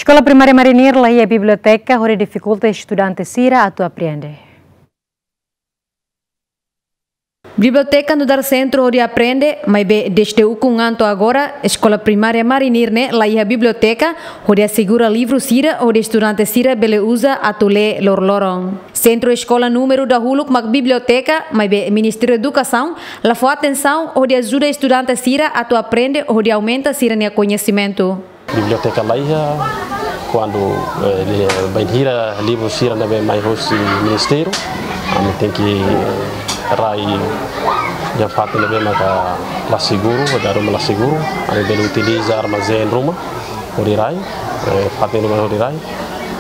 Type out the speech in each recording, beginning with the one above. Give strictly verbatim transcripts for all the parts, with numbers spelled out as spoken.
Eskola Primária Marinir la iha biblioteka hodi difikulta estudante sira atu aprende. Biblioteka nu'udar sentru hodi aprende, maibé dezde ukun an to'o agora, Eskola Primária Marinir ne'e la iha biblioteka hodi asegura livru sira hodi estudante sira bele uza atu lee loroloron. Sentru eskola númeru dahuluk mak biblioteka, maibé Ministériu Edukasaun la fó atensaun hodi ajuda estudante sira atu aprende hodi aumenta sira-nia koñesimentu. Biblioteka la iha, kuandu, eh, li-, bainhira livru sira ne'ebé mai hosi ministériu, ami tenke, eh, rai iha fatin ne'ebé maka la seguru, dala ruma la seguru, ami bele utiliza armazén ruma hodi rai, eh, fatin ruma hodi rai,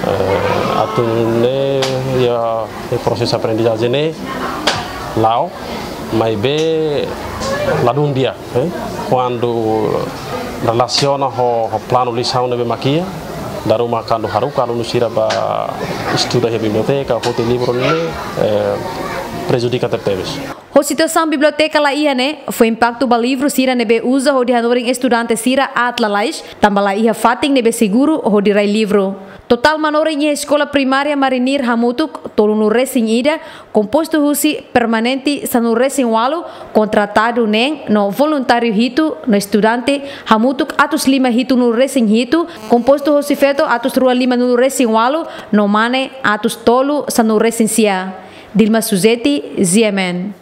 eh, atu nune'e iha, eh, prosesu aprendizajen ne'e la'o, maibé ladún di'ak, eh, kuandu relasiona ho, ho planu lisaun ne'ebé mak iha, dala ruma kuandu haruka alunu sira bá estuda iha biblioteka, foti livru ne'e, eh, prejudika tebetebes. Ho situasaun biblioteka la iha ne'e, fó impaktu ba livru sira ne'ebé uza hodi hanorin estudante sira aat lalais, tanba la iha fatin ne'ebé seguru hodi rai livru. Totál manorin iha Eskola Primária Marinir hamutuk tolunulu resin ida, kompostu husi permanente sanulu resin ualu, kontratadu neen no voluntáriu hitu, no estudante hamutuk atus lima hitunulu resin hitu, kompostu husi feto atus rua limanulu resin ualu, no mane atus tolu sanulu resin sia. Dilma Suzeti, G M N.